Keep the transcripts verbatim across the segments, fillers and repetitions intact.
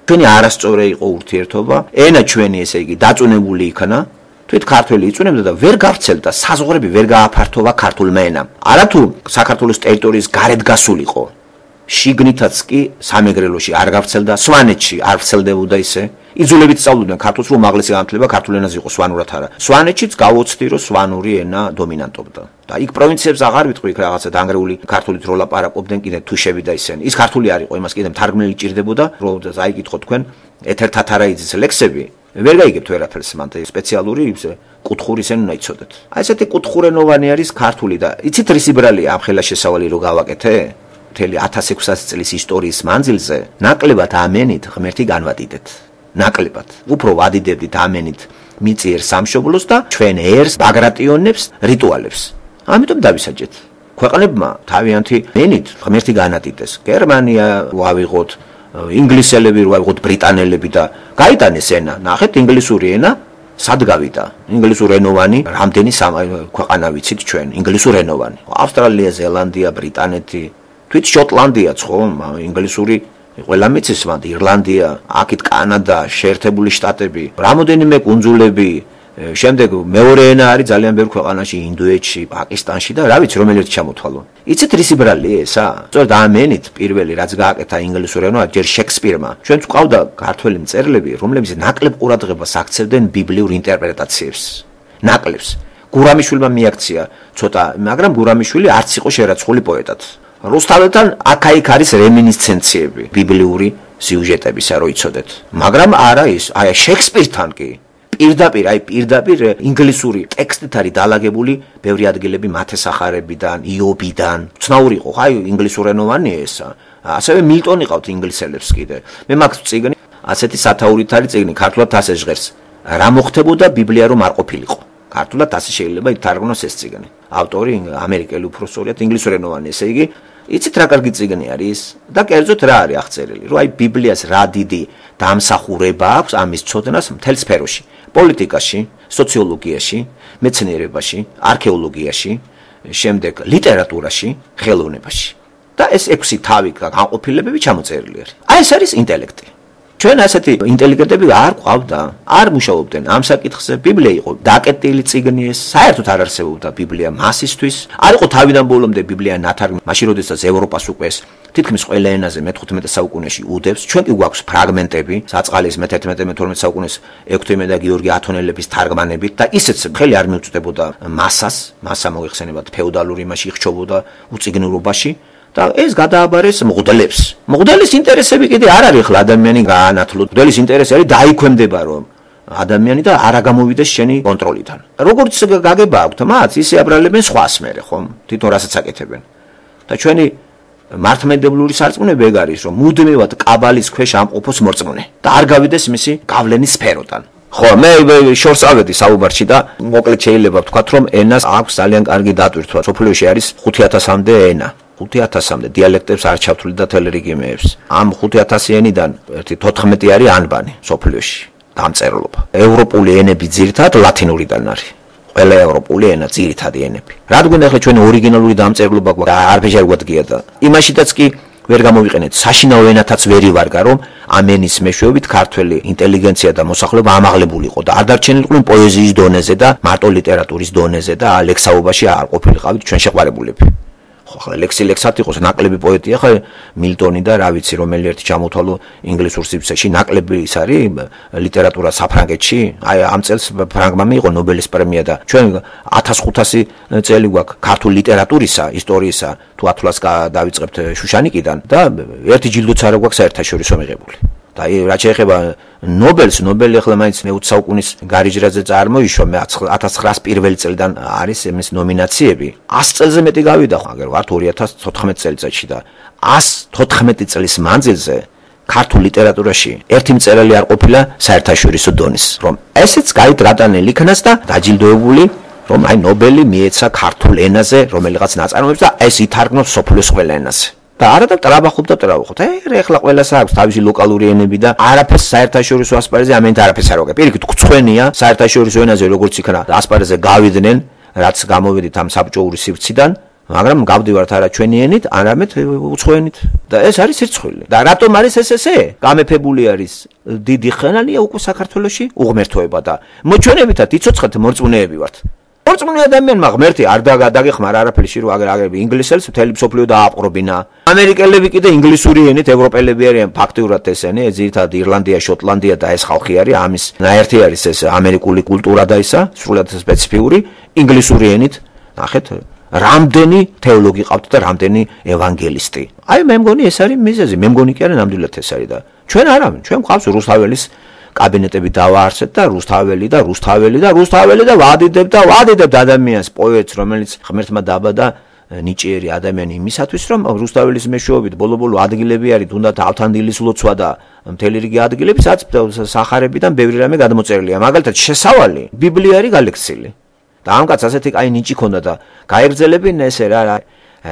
ჩვენი არასწორი იყო ურთიერთობა, ენა ჩვენი ესე იგი დაწუნებული იქნა, თვით ქართველი იწუნებდა და ვერ გავრცელდა, საზღვრები ვერ გააფართოვა ქართულმა ენამ. არათუ საქართველოს ტერიტორიის გარეთ გასულიყო. შიგნითაც კი სამეგრელოში არ გავრცელდა, სვანეთში არ ვრცელდებოდა ისე. იძულებით სწავლობდნენ ქართულს, რომ უმაღლესი განათლება ქართულ ენაზე იყო, სვანურად არა. სვანეთშიც გავოცდი, რომ სვანური ენა დომინანტობდა. და იქ პროვინციებს აღარ ვიტყვი, იქ რაღაცა დანგრეული ქართულით რო ლაპარაკობდნენ კიდე თუშები და ისინი. ის ქართული არ იყო, იმას კიდე მთარგმნელი ჭირდებოდა, რომ აიგითხო თქვენ ეთერ თათარაიძის ლექსები. ვერ გაიგებთ ვერაფერს მან სპეციალური კუთხურის ენა უნდა იცოდეთ. აი ესეთი კუთხურენოვანი არის ქართული და იცით რის იბრალია ამ ხელა შესავალი რო გავაკეთე? მთელი ათას ექვსასი წლის ისტორიის მანძილზე ნაკლებად ამენით ღმერთი განვადიდეთ. ნაკლებად. უფრო ვადიდებდით ამენით მიწიერ სამშობლოს და ჩვენ ერს ბაგრატიონებს, რიტუალებს. ამიტომ დავისაჯეთ. ქვეყნებმა თავიანთი მენით ღმერთი განადიდეს. გერმანია ვავიღოთ, ინგლისელები ვავიღოთ, ბრიტანელები და გაიტანეს ენა. ნახეთ ინგლისური ენა სად გავიდა? ინგლისურენოვანი რამდენი ქვეყანა ვიცით ჩვენ? ინგლისურენოვანი. ავსტრალია, ზელანდია, ბრიტანეთი, თვით შოტლანდიაც ხო, ინგლისური ყველა მიცის მანდ ირლანდია, აქეთ კანადა, შეერთებული შტატები, რამოდენიმე კუნძულები, შემდეგ მეორე ენა არის ძალიან ბევრ ქვეყანაში, ინდოეთში, პაკისტანში და რა ვიცი, რომელი ერთი ჩამოთვალო. იცით რის იბრალია ესა? სწორედ ამენით პირველი რაც გააკეთა ინგლისურ ენაზე, ჯერ შექსპირმა. ჩვენც ყავდა ქართველი მწერლები, რომლებიც ნაკლებ ყურადღებას აქცევდნენ ბიბლიურ ინტერპრეტაციებს. ნაკლებს. გურამიშვილმა მიაქცია ცოტა, მაგრამ გურამიშვილი არც იყო შერაცხული პოეტად. რუსთაველთან აქა-იქ არის რემინისცენციები, ბიბლიური სიუჟეტებისა, რო იცოდეთ. მაგრამ არა ის, აი შექსპირთან კი პირდაპირ, აი პირდაპირ ინგლისური ტექსტით არის დალაგებული ბევრი ადგილები მათესახარებიდან, იობიდან. ცნაური იყო, აი ინგლისურენოვანია ესა. ასევე მილტონი ყავთ ინგლისელებს კიდე. მე მაქვს წიგნი, ასეთი სათაურით არის წიგნი, ქართულად ასე ჟღერს. რა მოხდებოდა ბიბლია რომ არ ყოფილიყო. ქართულად ასე შეიძლება ითარგმნოს ეს წიგნი. ავტორი ამერიკელი უფროსწორია, ინგლისურენოვანი, ესე იგი იცით რა კარგი წიგნი არის და კერძოდ რა არის აღწერილი, რომ აი ბიბლიას რა დიდი დამსახურება აქვს ამის ცოდნას მთელ სფეროში, პოლიტიკაში, სოციოლოგიაში, მეცნიერებაში, არქეოლოგიაში, შემდეგ ლიტერატურაში, ხელოვნებაში. და ეს ექვსი თავი განყოფილებები ჩამოწერილი არის. აი ეს არის ინტელექტი. ჩვენ ასეთი ინტელიგენტები არ ყავდა, არ მუშაობდნენ ამ საკითხზე. ბიბლია იყო დაკეტილი წიგნი ეს, საერთოდ არ არსებობდა ბიბლია მასისთვის. არ იყო თავიდან ბოლომდე ბიბლია ნათარგმნი, მაშინ როდესაც ევროპას უკვე ეს თითქმის ყველა ენაზე მეთერთმეტე საუკუნეში უდევს. ჩვენ კი გვაქვს ფრაგმენტები, საწყალის მეთერთმეტე მეთორმეტე საუკუნის ექვთიმე და გიორგი ათონელების თარგმანებით და ისეც ხელი არ მიუწვდებოდა მასას, მასა მოიხსენებათ ფეოდალური იმაში იხჩობოდა უწიგნურობაში. და ეს გადააბარეს მღვდლებს. მღვდლის ინტერესები კიდე არ არის ხლა ადამიანი გაანათლო. მღვდლის ინტერესი არის დაიქვემდება რომ ადამიანი და არ გამოვიდეს შენი კონტროლიდან. როგორც გაგება აქვთ მათ, ისე აბრალებენ სხვას მერე, ხომ? თვითონ რასაც აკეთებენ. და ჩვენი მართლმადიდებლური სარწმუნოება ეგ არის, რომ მუდმივად კაბალის ქვეშ ამყოფოს მორწმუნე და არ გავიდეს მისი გავლენის სფეროდან. ხო, მე შორს ავედი საუბარში და მოკლედ შეიძლება ვთქვათ, რომ ენას აქვს ძალიან კარგი დატვირთვა. სოფლიოში არის ხუთი ათასამდე ენა. ხუთი ათასამდე დიალექტებს არ ჩავთვლით და თელერიგიმეებს. ამ ხუთი ათასი ენიდან ერთი თოთხმეტი არის ანბანი სოფლიოში, დამწერლობა. ევროპული ენები ძირითადად ლათინურიდან არის. ყველა ევროპული ენა ძირითადი ენები. რადგან ახლა ჩვენი ორიგინალური დამწერლობა გვაქვს, არაფერი გვადგია და იმაშითაც კი ვერ გამოვიყენეთ. საშინაო ენათაც ვერ ივარგა, რომ ამ ენის მეშვეობით ქართველი ინტელიგენცია და მოსახლეობა ამაღლებულიყო და არ დარჩენილიყვნენ პოეზიის დონეზე და მარტო ლიტერატურის დონეზე და ლექსაობაში არ ყოფილიყავით ჩვენ შეყვარებულები. ხო, ლექსი ლექსად იყოს, ნაკლები პოეტია, ხა მილტონი და რა ვიცი, რომელი ერთი ჩამოთვალო ინგლისურ სივრცეში, ნაკლები ის არის ლიტერატურა საფრანგეთში. აი ამ წელს ფრანგმა მიიღო ნობელის პრემია და ჩვენ ათას ხუთასი წელი გვაქვს ქართულ ლიტერატურისა, ისტორიისა, თუ ათვლას დავიწყებთ შუშანიკიდან და ერთი ჯილდოც არ გვაქვს საერთაშორისო მიღებული. და აი რაც შეეხება ნობელს, ნობელი ახლა მაინც მეოცე საუკუნის გარიჯრაზე წარმოიშვა, მე ათას ცხრაას პირველი წელიდან არის εμის ნომინაციები. ასი წელზე მეტი გავიდა, აგერ ვართ ორი ათას თოთხმეტი წელიწადში და ასი თოთხმეტი წლის მანძილზე ქართულ ლიტერატურაში ერთი მწერალი არ ყოფილა საერთაშორისო დონის, რომ ესეც გაით რატანელი იქნას და დაჯილდოებული, რომ აი ნობელი მიეცა ქართულ ენაზე რომელიღაც ნაწარმოებს და ეს ითარგმნოს სოფლიოს ყველა ენაზე. და არა და ტრაბახობ და ტრაბახობ. ე ეხლა ყველას აქვს თავისი ლოკალური ენები და არაფერს საერთაშორისო ასპარეზზე ამენით არაფერს არ ვაკეთებ. პირიქით გწვენია საერთაშორისო ენაზე როგორც იქნა ასპარეზზე გავიდნენ, რაც გამოვედით ამ საბჭოური სივრციდან, მაგრამ გავდივართ არა ჩვენი ენით, არამედ უცხოენით და ეს არის სირცხვილი. და რატომ არის ეს ესე? გამეფებული არის დიდი ხანია უკვე საქართველოში უღმერთოება და მოჩვენებითად იცოცხლეთ მორწმუნეები ვართ. მორწმუნე ადამიანმა ღმერთი არ დაგეხმარა არაფერში რომ აგერ აგერ ინგლისელს მთელი მსოფლიო დააპყრობინა. ამერიკელები კიდე ინგლისური ენით ევროპელები არიან ფაქტიურად ესენი, ძირითადად ირლანდია, შოტლანდია და ეს ხალხი არის, ამის ნაერთი არის ეს ამერიკული კულტურა და ისა, სრულად სპეციფიური ინგლისური ენით. ნახეთ, რამდენი თეოლოგი ყავთ და რამდენი ევანგელისტი. აი მე მგონი ეს არის მიზეზი, მე მგონი კი არა ნამდვილად ეს არის და ჩვენ არა, ჩვენ ყავს რუსთაველის კაბინეტები დავაარსეთ და რუსთაველი და რუსთაველი და რუსთაველი და ვადიდებ და ვადიდებ ადამიანს პოეტს რომელიც ღმერთმა დაბადა ნიჭიერი ადამიანი იმისათვის რომ რუსთაველის მეშვეობით ბოლო-ბოლო ადგილები არის თუნდაც ავთანდილის ლოცვა და მთელი რიგი ადგილები სადაც სახარებიდან ბევრი რამე გადმოწერილია მაგალითად შესავალი ბიბლია არის გალექსილი და ამ კაც ასეთი კაი ნიჭი ქონდა და გაეგრძელებინა ესე რა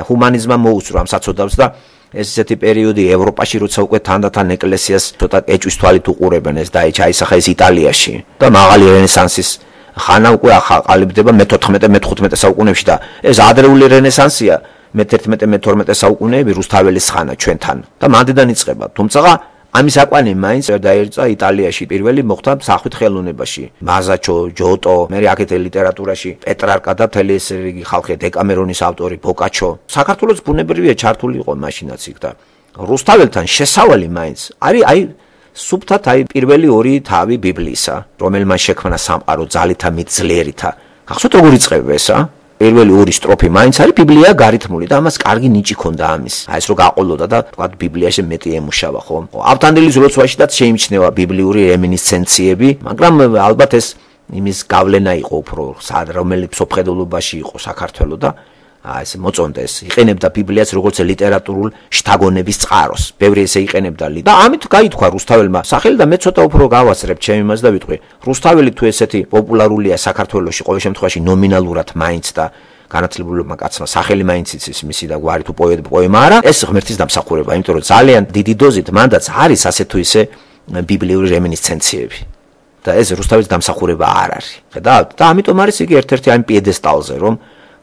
ჰუმანიზმმა მოუსწრო ამ საწოდავს და ეს ესეთი პერიოდი ევროპაში როცა უკვე თანდათან ეკლესიას ცოტა ეჭვის თვალით უყურებენ ეს და ჩაისახა ეს იტალიაში და მაღალი რენესანსის ხანა უკვე აყალიბდება მეთოთხმეტე მეთხუთმეტე საუკუნეებში და ეს ადრეული რენესანსია მეთერთმეტე მეთორმეტე საუკუნეები რუსთაველის ხანა ჩვენთან და მანდიდან იწყება თუმცა ამის აკვანი მაინც დაერწა იტალიაში პირველი მოხდა სახვით ხელოვნებაში მაზაჩო ჯოტო მე აქეთ ლიტერატურაში პეტრარკა და მთელი ეს რიგი ხალხი დეკამერონის ავტორი ბოკაჩო საქართველოს ბუნებრივია ჩართული იყო მაშინაც იქ და რუსთაველთან შესავალი მაინც არის აი სუბთად აი პირველი ორი თავი ბიბლიისა რომელმან შექმნა სამყარო ძალითა მიწლერითა ახსოვთ როგორ იწყება ესა პირველი ორი სტროფი მაინც არის ბიბლია გარითმული და ამას კარგი ნიჭი ქონდა ამის. აი ეს რო გაყოლოდა და თქვა ბიბლიაში მეტი ემუშავა ხო? ავთანდილის ლოცვაშიდაც შეიმჩნევა ბიბლიური რემინისცენციები, მაგრამ ალბათ ეს იმის გავლენა იყო უფრო რომელიც სოფხედულობაში იყო საქართველოს და აი ეს მოწონდეს. იყენებდა ბიბლიას როგორც ლიტერატურულ შთაგონების წყაროს. ბევრი ესე იყენებდა და ამით გაითქვა რუსთაველმა სახელი და მე ცოტა უფრო გავასწრებ ჩემ იმას და ვიტყვი. რუსთაველი თუ ესეთი პოპულარულია საქართველოში ყოველ შემთხვევაში ნომინალურად მაინც და განათლებულმა კაცმა სახელი მაინც იცის მისი და გვარი თუ პოეტ პოემა არა, ეს ღმერთის დამსახურება, იმიტომ რომ ძალიან დიდი დოზით მანდაც არის ასე თუ ისე ბიბლიური რემინისცენციები. და ეს რუსთაველის დამსახურება არ არის. ხედავთ? და ამიტომ არის იგი ერთ-ერთი ამ პიედესტალზე, რომ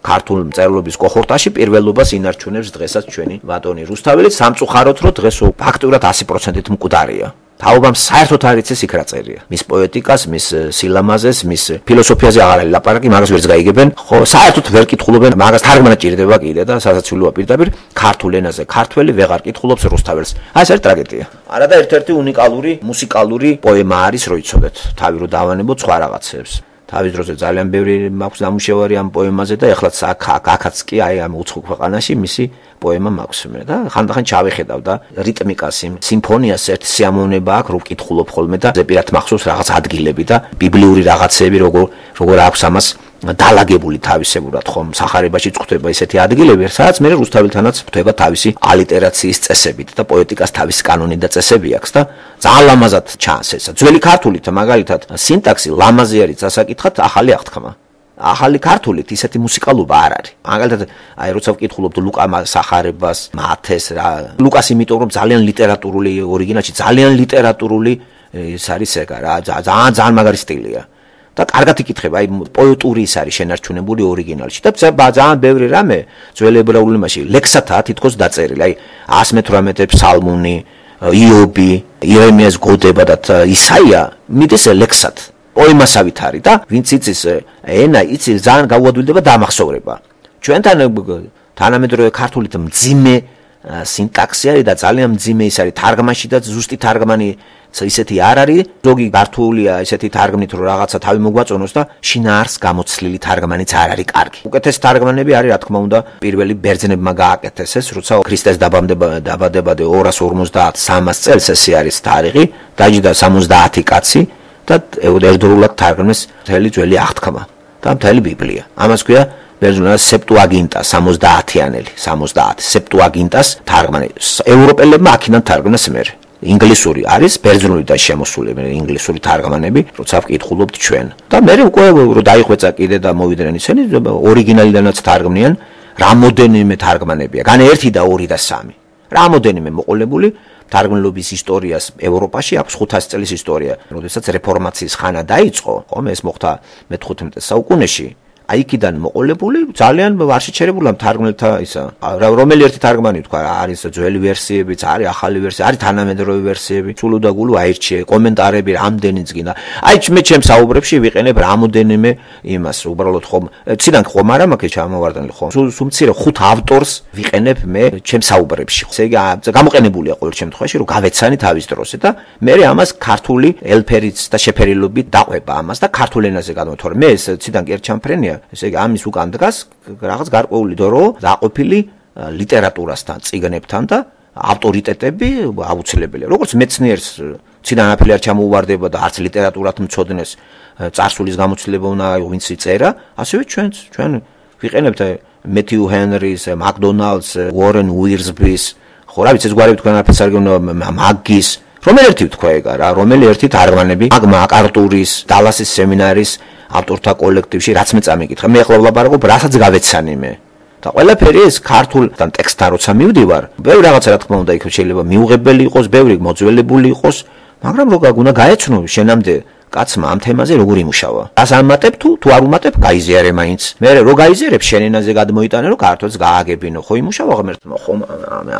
ქართულ მწერლობის კოჰორტაში პირველობას ინარჩუნებს დღესაც ჩვენი ბატონი რუსთაველი სამწუხაროდ რომ დღეს ფაქტურად ასი პროცენტით მკვდარია. თაობამ საერთოდ არ იცის იქ რა წერია. მის პოეტიკას, მის სილამაზეს, მის ფილოსოფიაზე აღარ არის ლაპარაკი, მაგას ვერც გაიგებენ. ხო, საერთოდ ვერ კითხულობენ, მაგას თარგმანა ჭირდება კიდე და სასაცილოა პირდაპირ ქართულ ენაზე. ქართველი ვეღარ კითხულობს რუსთაველს. აი ეს არის ტრაგედია. არა და ერთ-ერთი უნიკალური მუსიკალური პოემა არის, რო იცოდეთ. თავი რო დავანებოთ სხვა რაღაცებს. თავის დროზე ძალიან ბევრი მაქვს დამუშავარი ამ პოემაზე და ეხლაც აქ აქაც კი აი ამ უცხო ქვეყანაში მისი პოემა მაქვს მე და ხანდახან ჩავეხედავ და რიტმიკას იმ სიმფონიას ერთი სიამოვნება აქვს რო ვკითხულობ ხოლმე და ზეპირად მახსოვს რაღაც ადგილები და ბიბლიური რაღაცები როგორ როგორ აქვს ამას დალაგებული თავისებურად ხომ სახარებაში წხვდება ესეთი ადგილები სადაც მე რუსთაველთანაც ვთვება თავისი ალიტერაციის წესებით და პოეტიკას თავისი კანონი და წესები აქვს და ძალიან ლამაზად ჩანს ესა ძველი ქართულით მაგალითად სინტაქსი ლამაზი არის წასაკითხად ახალი აღთქმა ახალი ქართულით ისეთი მუსიკალობა არ არის მაგალითად აი როცა ვკითხულობთ ლუკა სახარებას მათეს რა ლუკას იმიტომ რომ ძალიან ლიტერატურული ორიგინალში ძალიან ლიტერატურული ეს არის ეგა რა ძალიან ძალიან მაგარი სტილია და კარგად იკითხება, აი პოეტური ის არის შენარჩუნებული ორიგინალში და ძალიან ბევრი რამე ძველ ებრაულენში ლექსათაა თითქოს დაწერილი. აი one eighty-eight ფსალმუნი, იობი, იერემიას გოდება და ისაია მიდის ლექსად. პოემასავით არის და ვინც იცის ენა, იცის ძალიან გაუადვილდება და ამახსოვრება. ჩვენთან თანამედროვე ქართულით მძიმე სინტაქსი არის და ძალიან მძიმე ის არის თარგმანში და ზუსტი თარგმანი ისეთი არ არის ზოგი გართულია ესეთი თარგმნით რომ რაღაცა თავი მოგვაწონოს და შინაარს გამოცლილი თარგმანიც არ არის კარგი. უკეთესი თარგმანები არის რა თქმა უნდა პირველი ბერძნებმა გააკეთეს ეს როცა ქრისტეს დაბადება დაბადებადე ორას ორმოცდაათ სამას წელს ესე არის თარიღი დაჯდა სამოცდაათი კაცი და ერთდროულად თარგმნეს მთელი ძველი აღთქმა და მთელი ბიბლია. ამას ქვია ბერძნულად სეპტუაგინტა სამოცდაათიანელი სამოცდაათი სეპტუაგინტას თარგმანი ევროპელებმა აქედან თარგმნეს მერე. ინგლისური არის ბერძნული და შემოსული ინგლისური თარგმანები, როცა ვკითხულობთ ჩვენ. და მე უკვე რო დაიხვეწა კიდე და მოვიდნენ ისინი ორიგინალიდანაც თარგმნიან, რამოდენიმე თარგმანებია. გან ერთი და ორი და სამი. რამოდენიმე მოყოლებული თარგმნილობის ისტორიას ევროპაში აქვს ხუთასი წლის ისტორია. როდესაც რეფორმაციის ხანა დაიწყო, ხომ ეს მოხდა მეთხუთმეტე საუკუნეში. აი იქიდან მოყოლებული ძალიან არ შეჩერებულა მთარგმნელთა ისა რომელი ერთი თარგმანი თქვა არის ძველი ვერსიებიც არის ახალი ვერსია არის თანამედროვე ვერსიები სულ და გულ აირჩიე კომენტარები რამდენიც გინდა აი მე ჩემს საუბრებში ვიყენებ რამოდენიმე იმას უბრალოდ ხომ ციდან ხომ არა მაქვს ჩამოვარდნილი ხომ სულ მცირე ხუთ ავტორს ვიყენებ მე ჩემს საუბრებში ესე იგი გამოყენებულია ყოველ შემთხვევაში რომ გავეცანი თავის დროზე და მე ამას ქართული ელფერიც და შეფერილობით დაყვება ამას და ქართულ ენაზე გადმოთორე მე ეს ციდან კი ერთ ჩამფრენია ესე იგი ამის უკან დგას რაღაც გარკვეული დრო დაყოფილი ლიტერატურასთან წიგნებთან და ავტორიტეტები აუცილებელია როგორც მეცნიერს ციდან არაფერი არ ჩამოუვარდება და არც ლიტერატურად მცოდნეს წარსულის გამოცდილება უნდა ვინც იწერა ასევე ჩვენც ჩვენ ვიყენებთ მეთიუ ჰენრის მაკდონალდს უორენ უირსბის ხო რა ვიცი ეს გვარები თქვენ არაფერს არ გეუბნება მაგის რომელი ერთი თქვა ეგ რა რომელი ერთი თარგმანები მაკ-არტურის დალასის სემინარის ავტორთა კოლექტივში რაც მე წამიკითხა მე ახლა ვლაპარაკობ რასაც გავეცანი მე და ყველაფერი ეს ქართულთან ტექსტთან როცა მივდივარ ბევრი რაღაცა რა თქმა უნდა იქ შეიძლება მიუღებელი იყოს ბევრი მოძველებული იყოს მაგრამ რო გაგუნა გაეცნო შენამდე კაცმა ამ თემაზე როგორ იმუშავა ას ამატებ თუ თუ არ უმატებ გაიზიარე მაინც მე რო გაიზიარებ შენ ენაზე გადმოიტანე რომ ქართულს გააგებინო ხო იმუშავა ღმერთმა ხო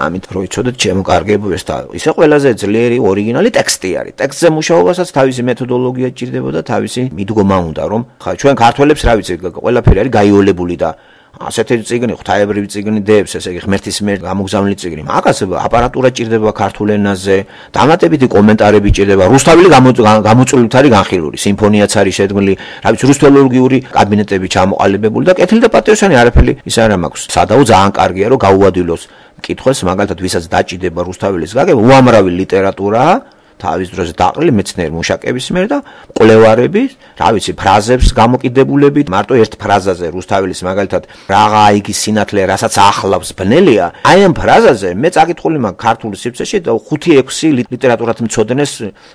ამით რო იცოდეთ ჩემო კარგებო ეს და ისე ყველაზე ძლიერი ორიგინალი ტექსტი არის ტექსტზე მუშაობასაც თავისი მეთოდოლოგია ჭირდებოდა თავისი მიდგომა უნდა რომ ხა ჩვენ ქართველებს რა ვიცი ყველაფერი არის გაიოლებული და ასეთი წიგნი ღვთაებრივი წიგნი დებს ესე იგი ღმერთის მიერ გამოგზავნილი წიგნი მაგას აპარატურა ჭირდება ქართულ ენაზე დამატებითი კომენტარები ჭირდება რუსთაველი გამოწვევით არის განხილული სიმფონიაც არის შედგმული რა ვიცი რუსთველოლოგიური კაბინეტები ჩამოყალიბებული და კეთილი და პატრიოტული არაფერი ის არა მაქვს სადაო ძალიან კარგია რომ გაუადვილოს მკითხველს მაგალითად ვისაც დაჭიდება რუსთაველის გაგება უამრავი ლიტერატურაა თავის დროზე დაყრილი მეცნიერ მუშაკების მიერ და კვლევარები, რა ვიცი, ფრაზებს გამოკიდებულებით, მარტო ერთ ფრაზაზე რუსთაველის მაგალითად რაღა იგი სინათლე, რასაც ახლავს ბნელია, აი ამ ფრაზაზე მე წაკითხული მაქვს ქართულ სივრცეში და ხუთი ექვსი ლიტერატურათ მცოდნეს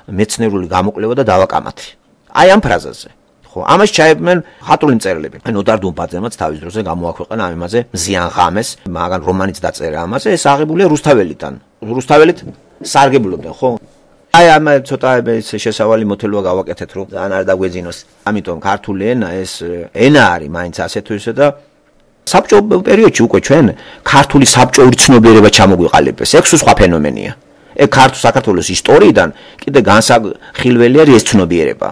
მეცნიერული გამოკვლევა და დავაკამათი. აი ამ ფრაზაზე. ხო, ამას ჩაებმენ ხატული მწერლები. აი ნოდარ დუმბაძემაც თავის დროზე გამოაქვეყნა ამაზე მზიან ღამეს, მაგან რომანიც დაწერა ამაზე, ეს აღებულია რუსთაველიდან. რუსთაველით სარგებლობდნენ, ხო? აი ამ ცოტა ეს შესავალი მოთელვა გავაკეთეთ რომ ძალიან არ დაგვეძინოს. ამიტომ ქართული ენა ეს ენა არის მაინც ასე თუ ისე და საბჭო პერიოდში უკვე ჩვენ ქართული საბჭოური ცნობიერება ჩამოგვიყალიბეს. ეგ სხვა ფენომენია. ეგ ქართულ საქართველოს ისტორიიდან კიდე განსახილველი არის ეს ცნობიერება.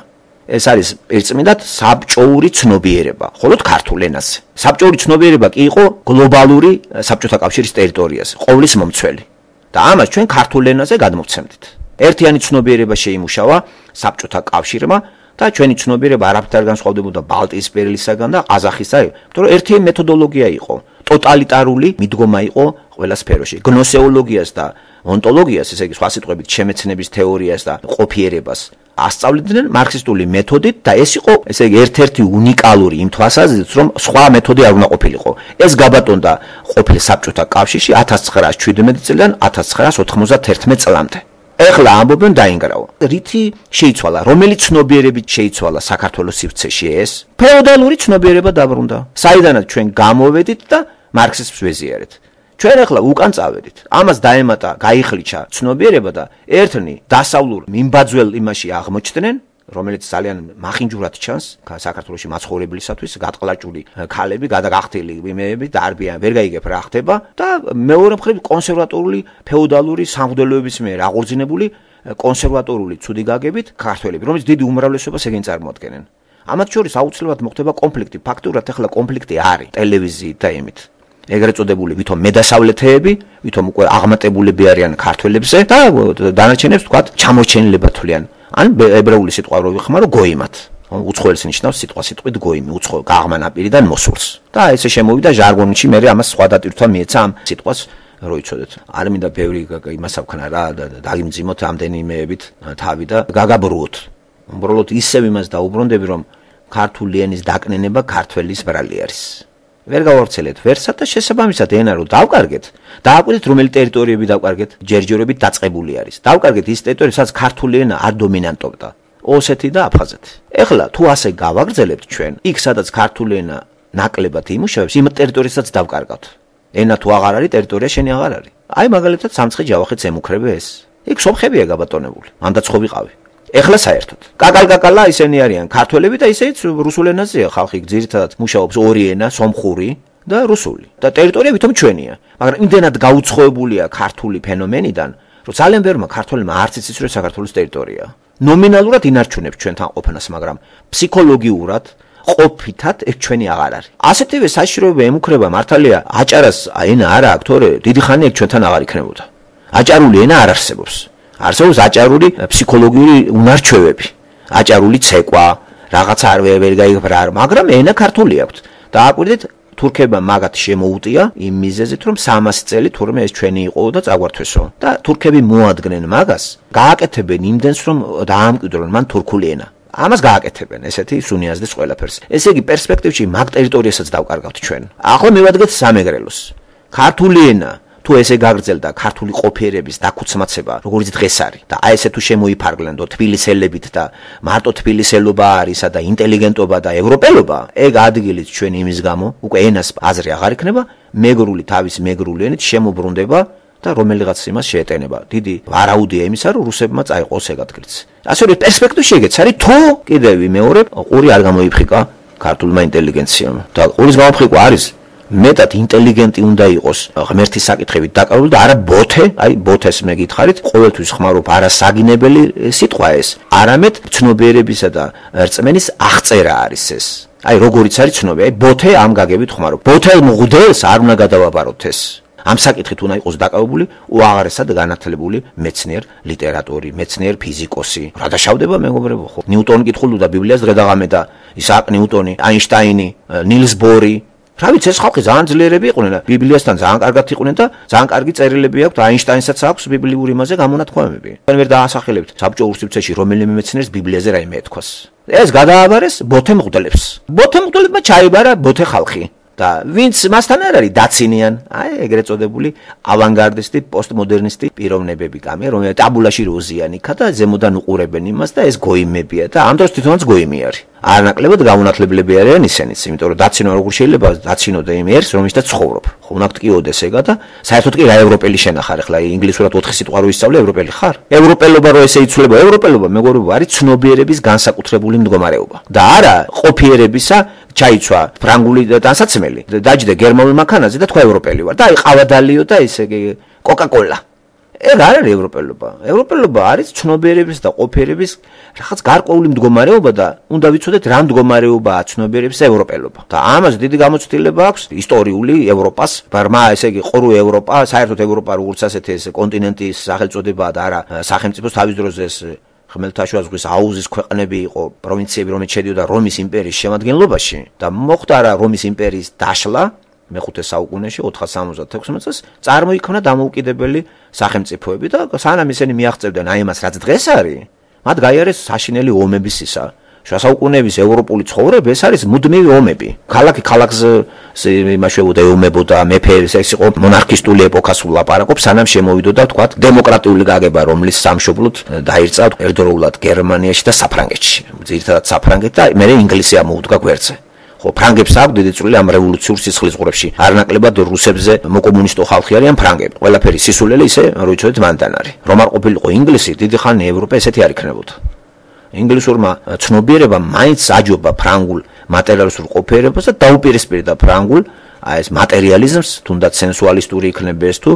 ეს არის ერთწმინდად საბჭოური ცნობიერება, ხოლოდ ქართულ ენაზე. საბჭოური ცნობიერება კი იყო გლობალური საბჭოთა კავშირის ტერიტორიაზე, ყოვლის მომცველი. და ამას ჩვენ ქართულ ენაზე გადმოვცემდით. ერთიანი ცნობიერება შეიმუშავა საბჭოთა კავშირმა და ჩვენი ცნობიერება არაფრით არ განსხვავდებოდა ბალტიისპირელისაგან და ყაზახისაგან, იმიტომ რომ ერთი მეთოდოლოგია იყო, ტოტალიტარული მიდგომა იყო ყველა სფეროში. გნოსეოლოგიას და ონტოლოგიას, ესე იგი სხვა სიტყვებით, შემეცნების თეორიას და ყოფიერებას ასწავლიდნენ მარქსისტული მეთოდით და ეს იყო, ესე იგი, ერთ-ერთი უნიკალური იმ თვალსაზრისით, რომ სხვა მეთოდი არ უნდა ყოფილიყო. ეს გაბატონდა ყოფილ საბჭოთა კავშირში ათას ცხრაას შვიდმეტი წლიდან ათას ცხრაას ოთხმოცდათერთმეტ წლამდე. ეხლა ამბობენ დაინგრავა. რითი შეიცვალა, რომელი ცნობიერებით შეიცვალა საქართველოს სივრცეში ეს? ფეოდალური ცნობიერება დაბრუნდა. საიდანაც ჩვენ გამოვედით და მარქსიზმს ვეზიარეთ. ჩვენ ახლა უკან წავედით. ამას დაემატა, გაიხლიჩა ცნობიერება და ერთნი დასავლურ მიმბაძველ იმაში აღმოჩნდნენ, რომელიც ძალიან მახინჯურად ჩანს საქართველოში მაცხოვრებლისათვის, გადაყლაჭული ქალები, გადაგახტილი იმეები და არბიან ვერ გაიგებ რა ხდება და მეორე მხრივ კონსერვატორული ფეოდალური სამღვდელოების მიერ აღორძინებული კონსერვატორული ცუდი გაგებით ქართველები, რომელიც დიდი უმრავლესობას ეგენ წარმოადგენენ. ამათ შორის აუცილებლად მოხდება კონფლიქტი. ფაქტურად ახლა კონფლიქტი არის ტელევიზიით და იმით. ეგრეთ წოდებული ვითომ მედასავლეთეები, ვითომ უკვე აღმატებულები არიან ქართველებზე და დანარჩენებს თქვათ ჩამორჩენილება თვლიან. ან ებრაული სიტყვა რო ვიხმარო გოიმათ. უცხოელს ნიშნავს სიტყვა სიტყვით გოიმი, უცხო გაღმანაპირიდან მოსულს. და ესე შემოვიდა ჟარგონში, მე ამას სხვა დატვირთვა მიეცა ამ სიტყვას რო იცოდეთ. არ მინდა ბევრი იმას ავქნა რა, დაგიმძიმოთ ამდენიმეებით თავი და გაგაბრუოთ. უბრალოდ ისევ იმას დაუბრუნდები, რომ ქართული ენის დაკნინება ქართველის ბრალი არის. ვერ გავავრცელეთ ვერსად და შესაბამისად ენა რო დავკარგეთ, დააკვირდით რომელი ტერიტორიები დავკარგეთ, ჯერჯერობით დაწყებული არის. დავკარგეთ ის ტერიტორიები, სადაც ქართული ენა არ დომინანტობდა. ოსეთი და აფხაზეთი. ეხლა თუ ასე გავაგრძელებთ ჩვენ, იქ სადაც ქართული ენა ნაკლებად იმუშავებს, იმ ტერიტორიასაც დავკარგავთ. ენა თუ აღარ არის, ტერიტორია შენი აღარ არის. აი მაგალითად სამცხე-ჯავახეთს ემუქრებე ეს. იქ სომხებია გაბატონებული. მანდაც ხო ვიყავი. ეხლა საერთოდ. კაკალ-კაკალა ისინი არიან ქართველები და ისეც რუსულ ენაზეა ხალხი ძირითადად მუშაობს ორი ენა, სომხური და რუსული. და ტერიტორია ვითომ ჩვენია. მაგრამ იმდენად გაუცხოებულია ქართული ფენომენიდან, რომ ძალიან ბევრმა ქართველმა არც იცის რომ საქართველოს ტერიტორია. ნომინალურად ინარჩუნებს ჩვენთან ყოფნას, მაგრამ ფსიქოლოგიურად ყოფითად ეს ჩვენი აღარ არის. ასეთივე საშიშროება ემუქრება მართალია აჭარას ენა არა აქვს, თორე დიდი ხანი ეგ ჩვენთან აღარ იქნებოდა. აჭარული ენა არ არსებობს. არსებობს აჭარული ფსიქოლოგიური უნარჩვევები, აჭარული ცეკვა, რაღაცა არ ვერ გაიგებრა, მაგრამ ენა ქართული აქვს. და აკვირდით თურქებმა მაგათ შემოუტია იმ მიზეზით, რომ სამასი წელი თურმე ეს ჩვენი იყო და წაგვართვესო. და თურქები მოადგენენ მაგას, გააკეთებენ იმდენს, რომ დაამკვიდრონ მან თურქული ენა. ამას გააკეთებენ, ესეთი სუნიაზდეს ყველაფერს. ესე იგი პერსპექტივში მაგ ტერიტორიასაც დავკარგავთ ჩვენ. ახლა მივადგეთ სამეგრელოს. ქართული ენა თუ ესე გაგრძელდა ქართული ყოფიერების დაქუცმაცება, როგორც დღეს არის და აი ესე თუ შემოიფარგლენდო თბილისელებით და მარტო თბილისელობა არისა და ინტელიგენტობა და ევროპელობა, ეგ ადგილით ჩვენ იმის გამო უკვე ენას აზრი აღარ იქნება, მეგრული თავის მეგრული ენით შემოbrunდება და რომელიღაც იმას შეეტენება. დიდი ვარაუდია იმისა, რომ რუსებმა წაიყოს ეგ ადგილიც. ასე რომ პერსპექტივაში ეგეც არის, თუ კიდევ ვიმეორებ, ყური არ გამოიფრიკა ქართულმა ინტელიგენციამ. და ყურის გამოფრიკვა არის მეტად ინტელიგენტი უნდა იყოს ღმერთის საკითხებით დაკავებული და არა ბოთე, აი ბოთეს მე გითხარით, ყოველთვის ხმარობ არასაგინებელი სიტყვა ეს, არამედ ცნობიერებისა და რწმენის აღწერა არის ეს. აი როგორიც არის ცნობი, აი ბოთე ამ გაგებით ხმარობ. ბოთელ მღვდელს არ უნდა გადავაბაროთ ეს. ამ საკითხით უნდა იყოს დაკავებული უაღრესად განათლებული მეცნიერ ლიტერატორი, მეცნიერ ფიზიკოსი. რა დაშავდება მეგობრებო ხო? ნიუტონი კითხულობდა ბიბლიას დღე-დაღამე და ისააკ ნიუტონი, აინშტაინი, ნილს ბორი. რა ვიცი, ეს ხალხი ძალიან ძლიერები იყვნენ და ბიბლიასთან ძალიან კარგად იყვნენ და ძალიან კარგი წერილები აქვს და აინშტაინსაც აქვს ბიბლიური იმაზე გამონათქვამები. თქვენ ვერ დაასახელებთ საბჭოურ სივრცეში რომელიმე მეცნიერს ბიბლიაზე რაიმე ეთქვას. ეს გადააბარეს ბოთე მღვდლებს. ბოთე მღვდლებმა ჩაიბარა ბოთე ხალხი. და ვინც მასთან არ არის დაცინიან, აი ეგრეთ წოდებული ავანგარდისტი, პოსტმოდერნისტი პიროვნებები კამე, რომელიც ტაბულაში როზიანი ქა და ზემოდან უყურებენ იმას და ეს გოიმებია და ამ დროს თვითონაც გოიმი არის. არანაკლებად გაუნათლებლები არიან ისინიც, იმიტომ რომ დაცინო როგორ შეიძლება დაცინოდა იმ ერს, რომელშიც ცხოვრობ. ხო უნდა გტკიოდეს ეგა და საერთოდ კი რა ევროპელი შენახარ, ახლა ინგლისურად ოთხი სიტყვა რო ისწავლე, ევროპელი ხარ? ევროპელობა რო ესე იცვლება, ევროპელობა მეგობრებო არის ცნობიერების განსაკუთრებული მდგომარეობა. და არა ყოფიერებისა ჩაიცვა ფრანგული ტანსაცმელი, დაჯდა გერმანულ მანქანაზე და თქვა ევროპელი ვარ და აი ყავადალიო და ესე კოკა-კოლა. ეგ არ არის ევროპელობა. ევროპელობა არის ცნობიერების და ყოფიერების რაღაც გარკვეული მდგომარეობა და უნდა ვიცოდეთ რა მდგომარეობაა ცნობიერების ევროპელობა. და ამას დიდი გამოცდილება აქვს ისტორიული ევროპას, ბარმა ესე იგი ყრუ ევროპა, საერთოდ ევროპა როგორც ასეთი ეს კონტინენტის სახელწოდებაა და არა სახელმწიფოს თავის დროზე ეს ხმელთაშუა ზღვის აუზის ქვეყნები იყო, პროვინციები, რომელიც შედიოდა რომის იმპერიის შემადგენლობაში და მოხდა რა რომის იმპერიის დაშლა მეხუთე საუკუნეში ოთხას სამოცდაათი წელს წარმოიქმნა დამოუკიდებელი სახელმწიფოები და სანამ ისინი მიაღწევდნენ აი ამას რაც დღეს არის, მათ გაიარეს საშინელი ომების ისა. შუა საუკუნეების ევროპული ცხოვრება ეს არის მუდმივი ომები. ქალაქი ქალაქს იმაშველებოდა, ეომებოდა, მეფეებს, ეს იყო მონარქისტული ეპოქას ვლაპარაკობს, სანამ შემოვიდოდა თქვა დემოკრატიული გაგება, რომლის სამშობლოდ დაირწა ერთდროულად გერმანიაში და საფრანგეთში. ძირითადად საფრანგეთი და მერე ინგლისი ამოუდგა გვერდზე. ხო, ფრანგებს აქვს დიდი წვლილი ამ რევოლუციურ სისხლისღვრებში. არანაკლებად რუსებზე მოკომუნისტო ხალხი არიან ფრანგები. ყველაფერი სისულელი ისე რო იცოდეთ მანდან არის. რომ არ ყოფილიყო ინგლისი, დიდი ხანი ევროპა ესეთი არ იქნებოდა. ინგლისურმა ცნობიერებამ მაინც აჯობა ფრანგულ მატერიალისტურ ყოფიერებას და დაუპირისპირდა ფრანგულ აი ეს მატერიალიზმს, თუნდაც სენსუალისტური იქნება ეს თუ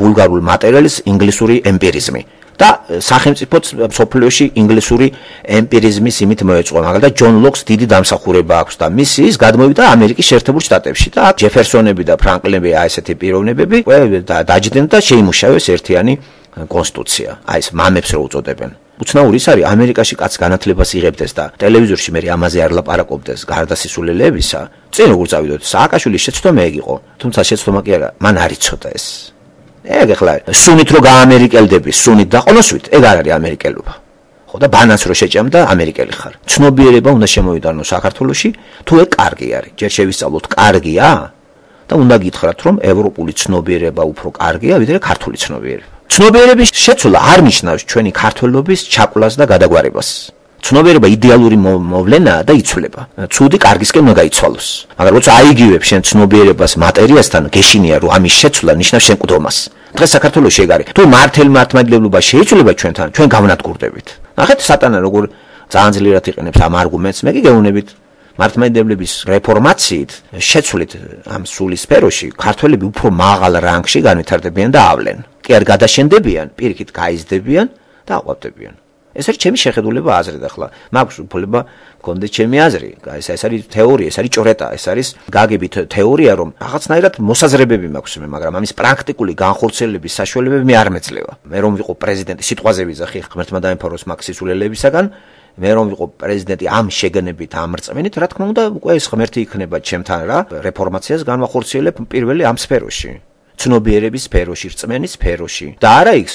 ვულგარულ მატერიალიზმს ინგლისური ემპირიზმი. და სახელმწიფოც სოფლიოში ინგლისური ემპირიზმის იმით მოეწყო. მაგალითად ჯონ ლოკს დიდი დამსახურება აქვს და მისი ის გადმოვიდა ამერიკის შეერთებულ შტატებში და ჯეფერსონები და ფრანკლინები აი ესეთი პიროვნებები დაჯდნენ და შეიმუშავეს ერთიანი კონსტიტუცია. აი ეს მამებს რო უწოდებენ. უცნაური ის არის ამერიკაში კაც განათლებას იღებდეს და ტელევიზორში მე ამაზე არ ლაპარაკობდეს გარდასისულელებისა. წინ როგორ წავიდოთ, სააკაშვილის შეცდომა ეგ იყო, თუმცა შეცდომა კი არა, მან არ იცოდა ეს. ეგ ახლა სუნით რო გაამერიკელდები, სუნით დაყოლოსვით, ეგ არ არის ამერიკელობა. ხო და ბანანს რო შეჭამ და ამერიკელი ხარ. ცნობიერება უნდა შემოვიდანო საქართველოში, თუ ეგ კარგი არის. ჯერ შევისწავლოთ კარგია და უნდა გითხრათ რომ ევროპული ცნობიერება უფრო კარგია, ვიდრე ქართული ცნობიერება. ცნობიერების შეცვლა არ ნიშნავს ჩვენი ქართველობის ჩაკლას და გადაგვარებას. ცნობიერება იდეალური მოვლენაა და იცვლება. ცუდი კარგისკენ უნდა გაიცვალოს. მაგრამ როცა აიგივებ შენ ცნობიერებას მატერიასთან, გეშინია რომ ამის შეცვლა ნიშნავს შენ მკვდომას. დღეს საქართველოში ეგ არის. თუ მართელ მართლმადიდებლობა შეიძლება ჩვენთან, ჩვენ გავნადგურდებით. ნახეთ სატანა როგორ ძალიან ძლიერად იყენებს ამ არგუმენტს. მე კი გეუბნებით მართლმადიდებლების რეფორმაციით შეცვლით ამ სული სფეროში ქართველები უფრო მაღალ რანგში განვითარდებიან და ავლენ. კი არ გადაშენდებიან, პირიქით გაიზრდებიან და აყვავდებიან. ეს არის ჩემი შეხედულება აზრით ახლა. მაქვს უფლება მქონდეს ჩემი აზრი. ეს ეს არის თეორია, ეს არის ჭორეტა, ეს არის გაგებით თეორია, რომ რაღაცნაირად მოსაზრებები მაქვს მე, მაგრამ ამის პრაქტიკული განხორციელების საშუალებები მე არ მეძლევა. მე რომ ვიყო პრეზიდენტი, სიტყვაზე ვიზახი ღმერთმა დაემფაროს მაგ სისულელებისაგან, მე რომ ვიყო პრეზიდენტი ამ შეგნებით, ამ რწმენით, რა თქმა უნდა, უკვე ეს ღმერთი იქნება ჩემთან რა, რეფორმაციას განვახორციელებ პირველი ამ სფეროში. ცნობიერების სფეროში, რწმენის სფეროში და არა იქ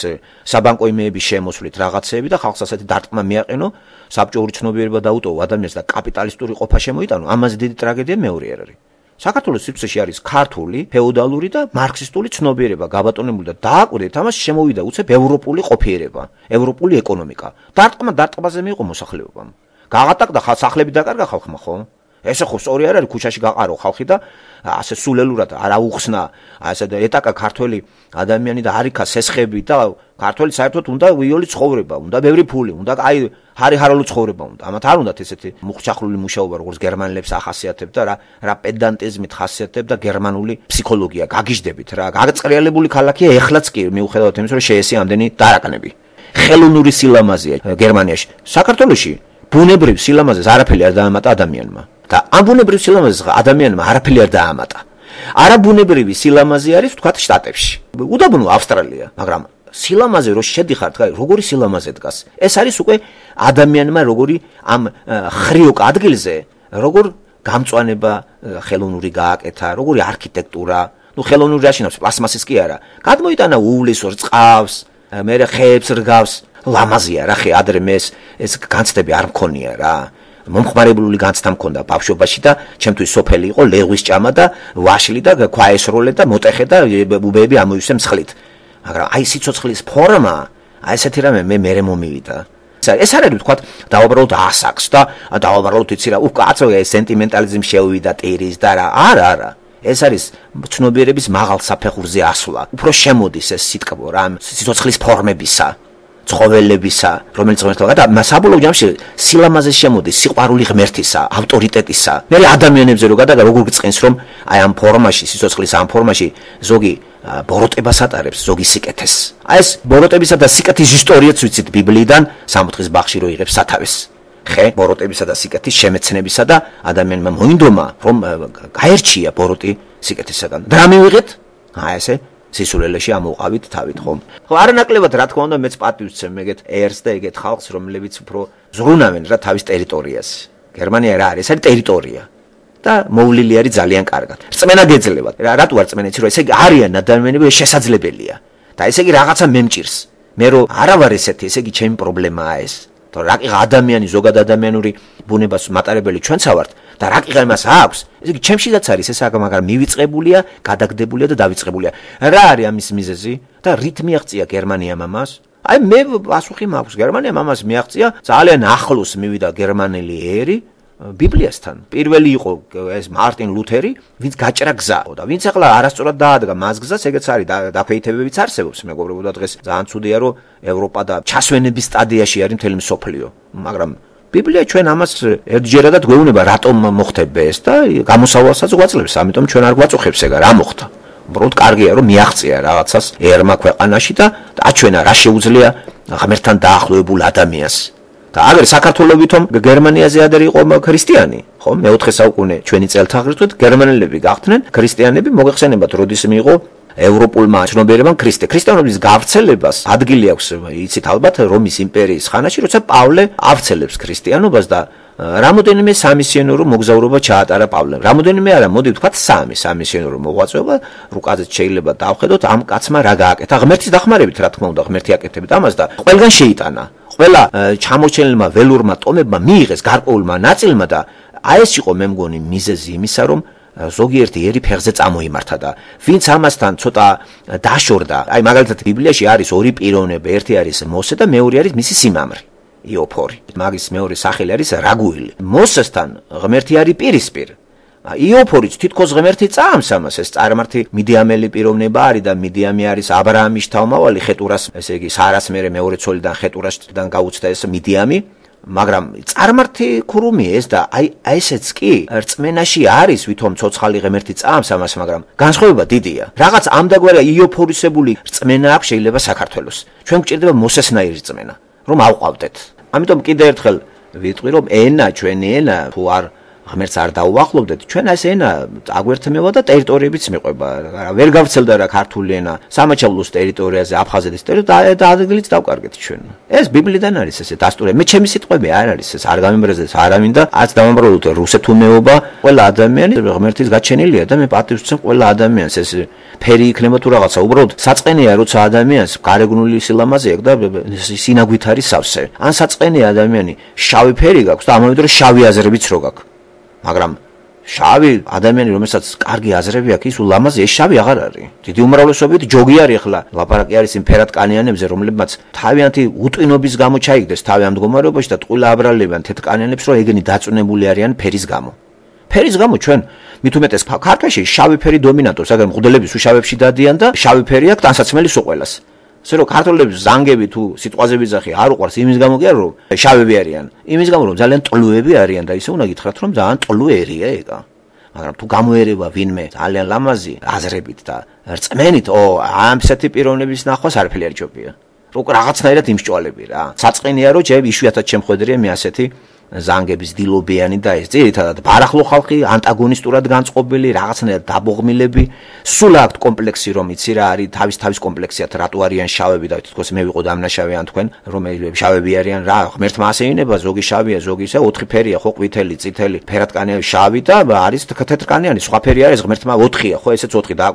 საბანკო იმეების შემოსვლით რაღაცეები და ხალხს ასეთი დარტყმა მიაყენო, საბჭოური ცნობიერება დაუტოვო ადამიანს და კაპიტალისტური ყოფა შემოიტანო, ამაზე დიდი ტრაგედია მეორე არ არის. საქართველოს სივრცეში არის ქართული, ფეოდალური და მარქსისტული ცნობიერება გაბატონებული და დააკვირდით, ამას შემოვიდა უცებ ევროპული ყოფიერება, ევროპული ეკონომიკა. დარტყმა დარტყმაზე მიიღო მოსახლეობამ. გაღატაკდა სახლები დაკარგა ხალხმა, ხო? ესე ხო სწორი არ არის ქუჩაში გაყარო ხალხი და ასე სულელურად არ აუხსნა ასე და ეტაკა ქართველი ადამიანი და არიქა სესხები და ქართველი საერთოდ უნდა ვიოლი ცხოვრება, უნდა ბევრი ფული, უნდა აი ჰარი-ჰაროლო ცხოვრება უნდა. ამათ არ უნდათ ესეთი მუხჩახლული მუშაობა, როგორც გერმანელებს ახასიათებდა რა, რა პედანტიზმით ხასიათებდა გერმანული ფსიქოლოგია. გაგიჟდებით რა, გაგწყრიალებული ქალაქია ეხლაც კი მიუხედავად იმისა, რომ შეესია ამდენი დარაკნები. ხელოვნური სილამაზეა გერმანიაში. საქართველოში ბუნებრივ სილამაზეს არაფერი არ დაამატა ადამიანმა. და ამ ბუნებრივ სილამაზეს ადამიანმა არაფერი არ დაამატა. არაბუნებრივი სილამაზე არის თქვათ შტატებში. უდაბნო ავსტრალია, მაგრამ სილამაზე რო შედიხართ, როგორი სილამაზე დგას. ეს არის უკვე ადამიანმა როგორი ამ ხრიოკ ადგილზე, როგორ გამწვანება ხელოვნური გააკეთა, როგორი არქიტექტურა, ნუ ხელოვნური რაშინავს, პლასმასის კი არა. გადმოიტანა უვლისო რწყავს, მერე ხეებს რგავს, ლამაზია რა ხე ადრე მეს ეს განცდები არ მქონია რა. მომხმარებლული განცდა მქონდა ბავშვობაში და ჩემთვის სოფელი იყო ლეღვის ჭამა და ვაშლი და ქვაესროლე და მოტეხე და უბეები ამოივსე მსხლით. მაგრამ აი სიცოცხლის ფორმა, აი ესეთი რამე მე მერე მომივიდა. ეს არ არის თქვათ დავაბრალოთ ასაკს და დავაბრალოთ იცი რა, უკაცო ეს სენტიმენტალიზმი შეუვიდა ტირის და რა, არა არა. ეს არის ცნობიერების მაღალ საფეხურზე ასვლა. უფრო შემოდის ეს სიტყვა რა, სიცოცხლის ფორმებისა. ცხოველებისა, რომელიც ღმერთმა და საბოლოო ჯამში სილამაზე შემოდის სიყვარული ღმერთისა, ავტორიტეტისა. მე ადამიანებზე რო გადაგა როგორ გწყენს რომ აი ამ ფორმაში, სიცოცხლის ამ ფორმაში ზოგი ბოროტებას ატარებს, ზოგი სიკეთეს. აი ეს ბოროტებისა და სიკეთის ისტორიაც ვიცით ბიბლიიდან, სამოთხის ბაღში რო იღებს სათავეს. ხე ბოროტებისა და სიკეთის შემეცნებისა და ადამიანმა მოინდომა რომ გაერჩია ბოროტი სიკეთისაგან. და რა მივიღეთ? აი ესე სისულელეში ამოვყავით თავით ხომ. ხო არანაკლებად რა თქმა უნდა მეც პატივს ვცემ ეგეთ ერს და ეგეთ ხალხს რომლებიც უფრო ზრუნავენ რა თავის ტერიტორიას. გერმანია რა არის? ეს არის ტერიტორია. და მოვლილი არის ძალიან კარგად. რწმენა გეძლებათ. რა რატო არ რწმენეცი რომ ესე იგი არიან ადამიანები შესაძლებელია. და ესე იგი რაღაცა მემჭირს. მე რომ არა ვარ ესეთი, ესე იგი ჩემი პრობლემაა ეს. და რაკიღა ადამიანი ზოგად ადამიანური ბუნებას მატარებელი ჩვენც ვართ და რაკიღა იმას აქვს, ესე იგი ჩემშიდაც არის ეს, მაგრამ მივიწყებულია, გადაგდებულია და დავიწყებულია. რა არის ამის მიზეზი და რით მიაღწია გერმანიამ ამას? აი მე პასუხი მაქვს, გერმანიამ ამას მიაღწია, ძალიან ახლოს მივიდა გერმანელი ერი ბიბლიასთან. პირველი იყო ეს მარტინ ლუთერი, ვინც გაჭრა გზა და ვინც ახლა არასწორად დაადგა მას გზას, ეგეც არის დაქვეითებებიც არსებობს, მეგობრებო და დღეს ძალიან ცუდია რომ ევროპა და ჩასვენების სტადიაში არის მთელი მსოფლიო. მაგრამ ბიბლია ჩვენ ამას ერთჯერადად გვეუბნება რატომ მოხდება ეს და გამოსავალსაც გვაძლევს, ამიტომ ჩვენ არ გვაწუხებს ეგა რა მოხდა. უბრალოდ კარგია რომ მიაღწია რაღაცას ერმა ქვეყანაში და აჩვენა რა შეუძლია ღმერთთან დაახლოებულ ადამიანს. და აგერ საქართველოვითომ გერმანიაზე ადერ იყო ქრისტიანი, ხო? მეოთხე საუკუნე ჩვენი წელთაღრიცხვით გერმანელები გახდნენ ქრისტიანები, მოგეხსენებათ, როდის მიიღო ევროპულმა ცნობიერებამ ქრისტე. ქრისტიანობის გავრცელებას ადგილი აქვს, იცით ალბათ, რომის იმპერიის ხანაში, როცა პავლე ავრცელებს ქრისტიანობას და რამოდენიმე სამისიონერო მოგზაურობა ჩაატარა პავლემ. რამოდენიმე არა, მოდი ვთქვათ სამი სამისიონერო მოღვაწეობა, რუკაზეც შეიძლება დავხედოთ ამ კაცმა რა გააკეთა. ღმერთის დახმარებით, რა თქმა უნდა, ღმერთი აკეთებით ამას და ყველგან შეიტანა. ყველა ჩამოჩენილმა ველურმა ტომებმა მიიღეს გარკვეულმა ნაწილმა და აი ეს იყო მე მგონი მიზეზი იმისა, რომ ზოგიერთი ერი ფეხზე წამოიმართა და ვინც ამასთან ცოტა დაშორდა. აი მაგალითად ბიბლიაში არის ორი პიროვნება, ერთი არის მოსე და მეორე არის მისი სიმამრი, იოფორი. მაგის მეორე სახელი არის რაგუილი. მოსესთან ღმერთი არის პირისპირ, იოფორიც თითქოს ღმერთი წამს ამას, ეს წარმართი მიდიამელი პიროვნება არის და მიდიამი არის აბრაამის თავმავალი, ხეტურას, ესე იგი სარას მერე მეორე ცოლიდან ხეტურასთან გაუჩნდა ეს მიდიამი, მაგრამ წარმართი ქურუმი ეს და აი ესეც კი რწმენაში არის, ვითომ ცოცხალი ღმერთი წამს ამას, მაგრამ განსხვავება დიდია. რაღაც ამდაგვარი იოფორისებული რწმენა აქვს შეიძლება საქართველოს. ჩვენ გვჭირდება მოსესნაირი რწმენა, რომ ავყავდეთ. ამიტომ კიდე ერთხელ ვიტყვი, რომ ენა, ჩვენი ენა თუ არ ღმერთს არ დაუახლოვდეთ, ჩვენ ეს ენა აგვერთმევა და ტერიტორიებიც მიყვება. ვერ გავრცელდა რა ქართული ენა სამაჩაბლოს ტერიტორიაზე, აფხაზეთის ტერიტორიაზე და ადგილიც დავკარგეთ ჩვენ. ეს ბიბლიდან არის ესე დასტური. მე ჩემი სიტყვები არ არის ეს, არ გამიმრეზეს არავინ და არც დავამბრალოთ რუსეთუნეობა. ყველა ადამიანი ღმერთის გაჩენილია და მე პატივს ვცემ ყველა ადამიანს. ეს ფერი იქნება თუ რაღაცა, უბრალოდ საწყენია როცა ადამიანს გარეგნული სილამაზე აქვს და სინაგვით არის სავსე. ან საწყენია ადამიანი შავი ფერი გაქვს და ამავე დროს შავი აზრებიც რო გაქვს. მაგრამ შავი ადამიანი რომელსაც კარგი აზრები აქვს ის ულამაზი ეს შავი აღარ არის. დიდი უმრავლესობით ჯოგი არის ახლა. ლაპარაკი არის იმ ფერატკანიანებზე რომლებმაც თავიანთი უტვინობის გამო ჩაიგდეს თავი ამ მდგომარეობაში და ტყუილა აბრალებიან თეთრკანიანებს რომ ეგენი დაწუნებული არიან ფერის გამო. ფერის გამო ჩვენ მით უმეტეს ქართლში შავი ფერი დომინანტობს, მაგრამ მღვდლები შავებში დადიან და შავი ფერი აქვს ტანსაცმელი სულ ყველას. ასე რომ ქართველებს ზანგები თუ სიტყვაზე ვიძახი არ უყვარს იმის გამო კი არა რომ შავები არიან, იმის გამო რომ ძალიან ტლუები არიან და ისე უნდა გითხრათ რომ ძალიან ტლუერია ეგა. მაგრამ თუ გამოერევა ვინმე ძალიან ლამაზი აზრებით და რწმენით, ო ამ ესეთი პიროვნების ნახვას არაფერი არ ჯობია. რო რაღაცნაირად იმსჭვალები რა. საწყენია რომ ჯერ იშვიათად შემხვედრია მე ასეთი ზანგების დილობიანი და ეს ძირითადად ბარახლო ხალხი, ანტაგონისტურად განწყობილი, რაღაცნაირად დაბოღმილები, სულ აქვთ კომპლექსი რომ იცი რა არის, თავის თავის კომპლექსიათ რატო არიან შავები და თითქოს მე ვიყო დამნაშავე ან თქვენ, რომელები შავები არიან რა, ღმერთმა ასე ინება, ზოგი შავია, ზოგი ისე ოთხი ფერია, ხო, ყვითელი, წითელი, ფერატკანიანი, შავი და არის თეთრკანიანი, სხვა ფერი არის, ღმერთმა ოთხია, ხო, ესეც ოთხი და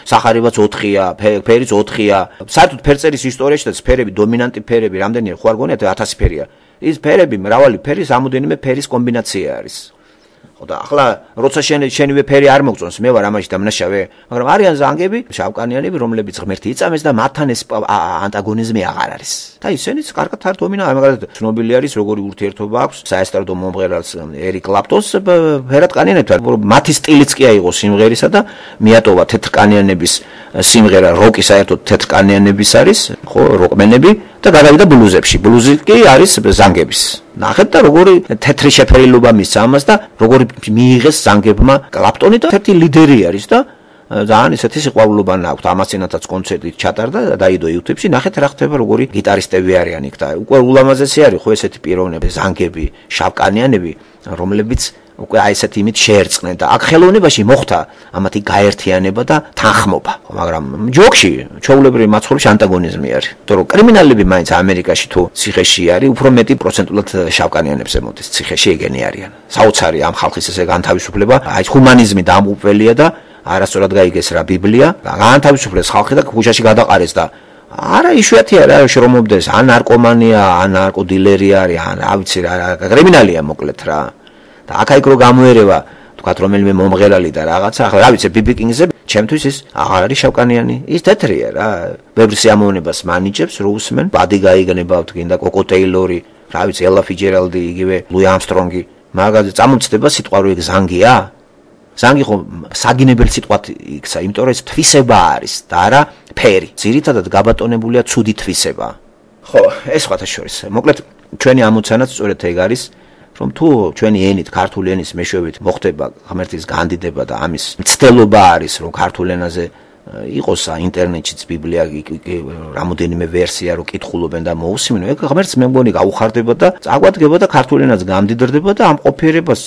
სახარებაც ოთხია, ფერიც ოთხია. საერთოდ ფერწერის ისტორიაში და ფერები, დომინანტი ფერები, რამდენია ხო არ გონიათ ათასი ფერია. ის ფერები, მრავალი ფერის ამოდენიმე ფერის კომბინაცია არის. ხო და ახლა როცა შენ შენივე ფერი არ მოგწონს, მე ვარ ამაში დამნაშავე, მაგრამ არიან ზანგები, შავკანიანები, რომლებიც ღმერთი იწამეს და მათთან ეს ანტაგონიზმი აღარ არის. და ისინიც კარგად არ დომინა, მაგალითად, ცნობილი არის როგორი ურთიერთობა აქვს საესტრადო მომღერალს ერიკ კლაპტონს ფერატკანიანებთან, მათი სტილიც კი აიღო სიმღერისა და მიატოვა თეთრკანიანების სიმღერა, როკი საერთოდ თეთრკანიანების არის, ხო, როკმენები და გადავიდა ბლუზებში. ბლუზი კი არის ზანგების. ნახეთ და როგორი თეთრი შეფერილობა მისცა ამას და როგორი მიიღეს ზანგებმა კლაპტონი და ერთი ლიდერი არის და ძალიან ისეთი სიყვარულობა აქვს. ამასინათაც კონცერტი ჩატარდა და დაიდო YouTube-ში. ნახეთ რა ხდება, როგორი გიტარისტები არიან იქ და უკვე ულამაზესი არის ხო ესეთი პიროვნები, ზანგები, შავკანიანები, რომლებიც უკვე აი ესეთი იმით შეერწყნენ და აქ ხელოვნებაში მოხდა ამათი გაერთიანება და თანხმობა. მაგრამ ჯოქში, ჩვეულებრივ მაცხოვრებში ანტაგონიზმი არის. იმიტომ რომ კრიმინალები მაინც ამერიკაში თუ ციხეში არის, უფრო მეტი პროცენტულად შავკანიანებს ემოდის, ციხეში ეგენი არიან. საოცარი ამ ხალხის ესე განთავისუფლება, აი ჰუმანიზმი დამუყველია და არასწორად გაიგეს რა ბიბლია, განთავისუფლეს ხალხი და ქუჩაში გადაყარეს და არა იშვიათია რა შრომობდეს, ან ნარკომანია, ან ნარკოდილერია არის, ან რა ვიცი რა, კრიმინალია მოკლედ რა. და აქა იქ რო გამოერევა, თქვათ რომელიმე მომღერალი და რაღაცა, ახლა რა ვიცი, ბიბი კინგზე, ჩემთვის ის აღარ არის შავკანიანი, ის თეთრია რა. ბევრ სიამოვნებას მანიჭებს, რო უსმენ, ბადი გაიგნებავთ, გინდა კოკო ტეილორი, რა ვიცი, ელა ფიჯერალდი, იგივე ლუი ამსტრონგი, მაგაზე წამომწდება სიტყვა რო ეგ ზანგია? ზანგი ხო საგინებელი სიტყვათ იქცა, იმიტომ რომ ეს თვისება არის და არა ფერი. ძირითადად გაბატონებულია ცუდი თვისება. ხო, ეს სხვათა შორის. მოკლედ ჩვენი ამოცანაც სწორედ ეგ არის, რომ თუ ჩვენი ენით, ქართული ენის მეშვეობით მოხდება ღმერთის განდიდება და ამის მცდელობა არის, რომ ქართულ ენაზე იყოს ინტერნეტშიც ბიბლია რამოდენიმე ვერსია რო კითხულობენ და მოусმინო, ეგ ღმერთს მე მგონი გაუხარდება და წაგვადგება და ქართულ ენაც გამდიდრდება და ამ ყოფიერებას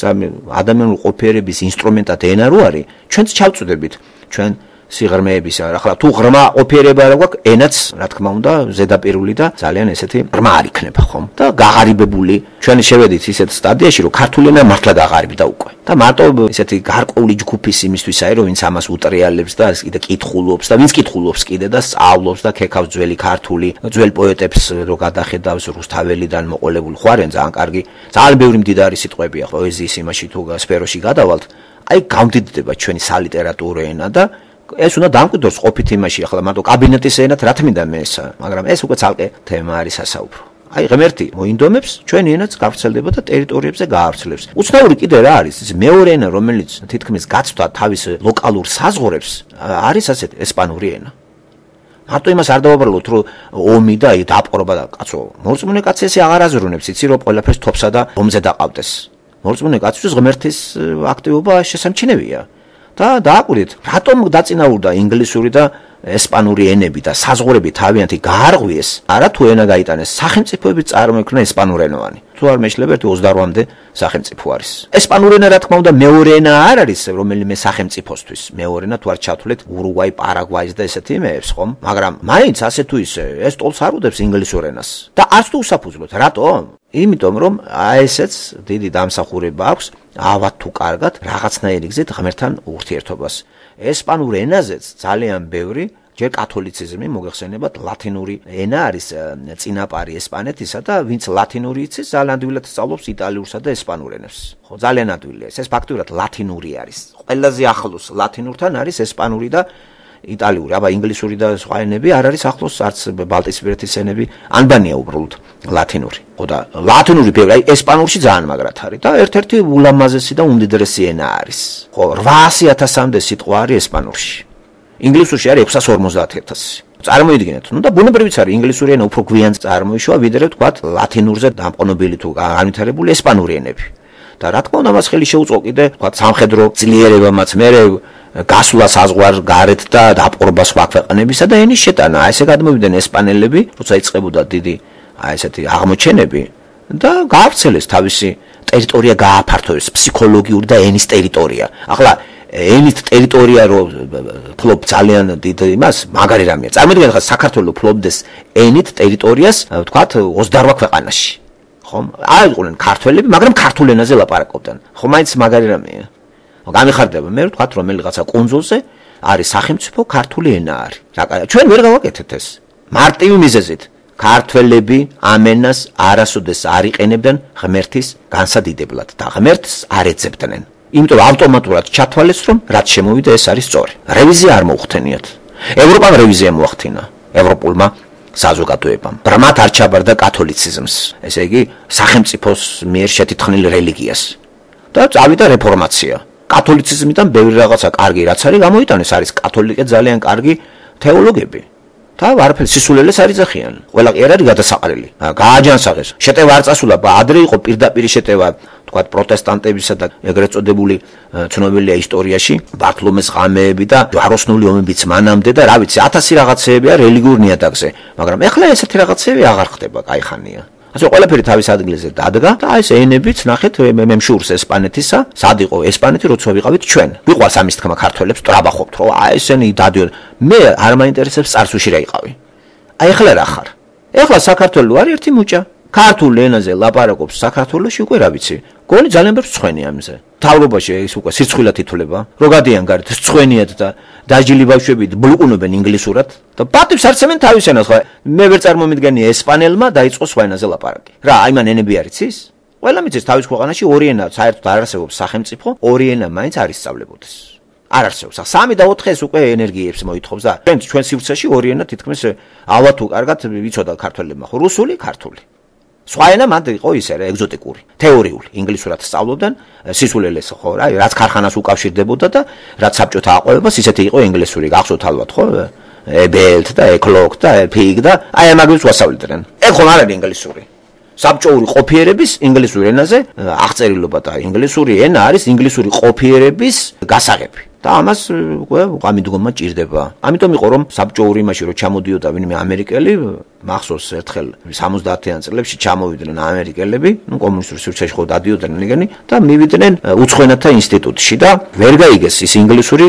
ადამიანური ყოფიერების ინსტრუმენტად ენა რო არის, ჩვენც ჩავწვდებით ჩვენ სიღრმეების ახლა თუ ღრმა ყოფიერება რა გვაქვს, ენაც რა თქმა უნდა ზედაპირული და ძალიან ესეთი ღრმა არ იქნება ხომ და გაღარიბებული. ჩვენ შევედით ისეთ სტადიაში, რომ ქართული ენა მართლა გაღარიბდა უკვე. და მარტო ესეთი გარკვეული ჯგუფის იმისთვის არის, რომ ვინც ამას უტრიალებს და კიდე კითხულობს და ვინც კითხულობს კიდე და სწავლობს და ქეკავს ძველი ქართული, ძველ პოეტებს რო გადახედავს რუსთაველიდან მოყოლებული ხوارენ ძალიან კარგი, ძალიან ბევრი მდიდარი სიტყვებია პოეზიის იმაში თუ სფეროში გადავალთ, აი გამდიდდება ჩვენი სალიტერატურო ენა და ეს უნდა დამკვიდროს ყოფით იმაში, ახლა მარტო კაბინეტის ენად რა თმინდა მე ესა, მაგრამ ეს უკვე ცალკე თემა არის სასაუბრო. აი ღმერთი მოინდომებს ჩვენი ენაც გავრცელდება და ტერიტორიებზე გაავრცელებს. უცნაური კიდე რა არის ის მეორე ენა რომელიც თითქმის გაცვდა თავის ლოკალურ საზღვრებს არის ასეთ ესპანური ენა. მარტო იმას არ დავაბრალოთ რომ ომი და აი დაპყრობა და კაცო მორწმუნე კაცი ესე აღარ აზრუნებს იცი რომ ყველაფერს თოფსა და ომზე დაყავდეს. მორწმუნე კაცისთვის ღმერთის აქტივობა შესამჩნევია. და დააკვირდით რატომ დაწინაურდა ინგლისური და ესპანური ენები და საზღვრები თავიანთი გაარღვიეს არა თუ ენა გაიტანეს სახელმწიფოები წარმოიქმნა ესპანურენოვანი თუ არ მეშლება ერთი ოცდაოთხამდე სახელმწიფო არის ესპანური ენა რა თქმა უნდა მეორე ენა არ არის რომელიმე სახელმწიფოსთვის მეორე ენა თუ არ ჩავთვლით ურუგვაი პარაგვაის და ესეთი იმეებს ხომ მაგრამ მაინც ასე თუ ისე ეს ტოლს არ უდებს ინგლისურ ენას და არც თუ უსაფუძვლოდ რატომ იმიტომ რომ აი ესეც დიდი დამსახურება აქვს ავად თუ კარგად რაღაცნაირი გზით ღმერთთან ურთიერთობას ესპანურ ენაზეც ძალიან ბევრი ჯერ კათოლიციზმი მოგეხსენებათ ლათინური ენა არის წინაპარი ესპანეთისა და ვინც ლათინური იცის ძალიან ადვილად სწავლობს იტალიურსა და ესპანურ ენებს ხო ძალიან ადვილია ეს ფაქტურად ლათინური არის ყველაზე ახლოს ლათინურთან არის ესპანური და იტალიური აბა ინგლისური და სხვა ენები არ არის ახლოს არც ბალტიისპირეთის ენები ანბანია უბრალოდ ლათინური ხო და ლათინური ბევრი აი ესპანურში ძალიან მაგრად არის და ერთ-ერთი ულამაზესი და უმდიდრესი ენა არის ხო რვაასი ათასამდე სიტყვა არის ესპანურში ინგლისურში არის ექვსას ორმოცდაათი ათასი წარმოიდგინეთ ნუ და ბუნებრივიც არის ინგლისური ენა უფრო გვიან წარმოიშვა ვიდრე თქვათ ლათინურზე დამყნობილი თუ განვითარებული ესპანური ენები და რა თქმა უნდა მას ხელი შეუწყო კიდე თქვათ სამხედრო ძლიერებამაც მერე გასვლა საზღვარ გარეთ და დაპყრობა სხვა ქვეყნებისა და ენის შეტანა აი ესე გადმოვიდნენ ესპანელები როცა იწყებოდა დიდი აი ესეთი აღმოჩენები და გაავრცელეს თავისი ტერიტორია გააფართოვეს ფსიქოლოგიური და ენის ტერიტორია ახლა ენის ტერიტორია რო ფლობ ძალიან დიდ იმას მაგარი რამეა წარმოიდგინეთ ხა საქართველოს ფლობდეს ენით ტერიტორიას ვთქვათ ოცდაორ ქვეყანაში ხომ არ იყვნენ ქართველები მაგრამ ქართულ ენაზე ლაპარაკობდნენ ხო მაინც მაგარი რამეა გამიხარდება მე ვთქვათ რომ რაღაცა კონძულზე არის სახელმწიფო ქართული ენა არის რა ჩვენ ვერ გავაკეთეთ ეს მარტივი მიზეზით ქართველები ამენას არასოდეს არ იყენებდნენ ღმერთის განსადიდებლად და ღმერთს არ ეძებდნენ იმიტომ ავტომატურად ჩათვალეს რომ რაც შემოვიდა ეს არის სწორი რევიზია არ მოუხდენიათ ევროპამ რევიზია მოახდინა ევროპულმა საზოგადოებამ ბრმად არ ჩაბარდა კათოლიციზმს ესე იგი სახელმწიფოს მიერ შეთითხნილ რელიგიას და წავიდა რეფორმაცია კათოლიციზმიდან ბევრი რაღაცა კარგი რაც არის გამოიტანეს არის კათოლიკე ძალიან კარგი თეოლოგები და არაფერს სისულელეს არ იძახიან ყველა კი არ არის გადასაყრელი გააჯანსაღეს შეტევა არ წასულა ადრე იყო პირდაპირ შეტევა თქვათ პროტესტანტებისა და ეგრეთ წოდებული ცნობილია ისტორიაში ბართლომეს ღამეები და ჯვაროსნული ომებიც მანამდე და რა ვიცი ათასი რაღაცეებია რელიგიურ ნიადაგზე მაგრამ ეხლა ესეთი რაღაცეები აღარ ხდება კაი ხანია ასე ყველაფერი თავის ადგილზე დადგა და აი ეს ენებიც ნახეთ მე მშურს ესპანეთისა სად იყო ესპანეთი როცა ვიყავით ჩვენ ვიყვარს ამის თქმა ქართველებს ტრაბახობთ რომ აი ესენი დადიოდ მე არ მაინტერესებს წარსულში რა იყავი აი ეხლა რა ხარ ეხლა საქართველოს არის ერთი მუჭა ქართულ ენაზე ლაპარაკობს საქართველოში უკვე რა ვიცი გონი ძალიან ბევრ ცხენი ამზე თავრობაში ეს უკვე სირცხვილად ითვლება რო გადიან გარეთ ცხენიათ და დაჯილი ბავშვები ბლუყუნობენ ინგლისურად და პატივს არცემენ თავის ენას ხო მე ვერ წარმომიდგენია ესპანელმა დაიწყო სხვა ენაზე ლაპარაკი რა აი მან ენები არ იცის ყველა მიცის თავის ქვეყანაში ორი ენა საერთოდ არ არსებობს სახელმწიფო ორი ენა მაინც არ ისწავლებოდეს არ არსებობს სამი და ოთხი ეს უკვე ენერგიებს მოითხოვს და ჩვენ ჩვენ სივრცეში ორი ენა თითქმის ავა თუ კარგად ვიცოდა ქართველებმა ხო რუსული ქართული სხვა ენა მანდ იყო ისე რა ეგზოტიკური თეორიული ინგლისურად სწავლობდნენ სისულელეს ხო რა რაც ქარხანას უკავშირდებოდა და რაც საბჭოთა აყვავებას ისეთი იყო ინგლისური გახსოვთ ალბათ ხო ებელთ და ეკლოკ და პიგ და აი ამაგებს ვასწავლიდნენ ეგ ხომ არ არის ინგლისური საბჭოური ყოფიერების ინგლისურ ენაზე აღწერილობა და ინგლისური ენა არის ინგლისური ყოფიერების გასაღები და ამას უკვე გამიდგომა ჭირდება. ამიტომ იყო რომ საბჭოური იმაში რომ ჩამოდიოდა ვინმე ამერიკელი, მახსოვს ერთხელ სამოცდაათიან წლებში ჩამოვიდნენ ამერიკელები, ნუ კომუნისტური სივრცეში ხო დადიოდნენ იგენი და მივიდნენ უცხოენათა ინსტიტუტში და ვერ გაიგეს ის ინგლისური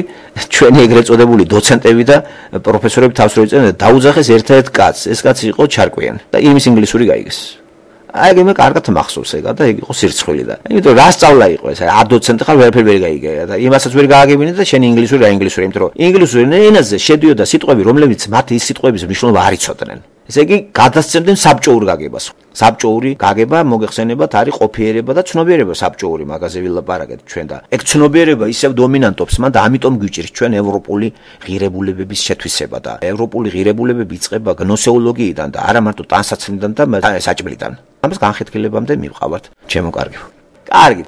ჩვენი ეგრეთ წოდებული დოცენტები და პროფესორები თავს რო იწერენ და დაუძახეს ერთ-ერთ კაცს. ეს კაცი იყო ჩარკვიანი და იმის ინგლისური გაიგეს. აი მე კარგად მახსოვს ეგა და ეგ იყო სირცხვილი და იმიტომ რა სწავლა იყო ეს არ დოცენტი ხარ ვერაფერი ვერ გაიგე და იმასაც ვერ გააგებინე და შენი ინგლისური რა ინგლისური იმიტომ რომ ინგლისური ენაზე შედიოდა სიტყვები რომლებიც მათ ის სიტყვების მნიშვნელობა არ იცოდნენ ესე იგი გადასცემდნენ საბჭოურ გაგებას საბჭოური გაგება მოგეხსენებათ არის ყოფიერება და ცნობიერება საბჭოური მაგაზე ვილაპარაკეთ ჩვენ და ეგ ცნობიერება ისევ დომინანტობს მან და ამიტომ გვიჭირს ჩვენ ევროპული ღირებულებების შეთვისება და ევროპული ღირებულებები იწყება გნოსეოლოგიიდან და არა მარტო ტანსაცმლიდან და საჭმლიდან ამას განხეთქილებამდე მივყავართ ჩემო კარგო კარგი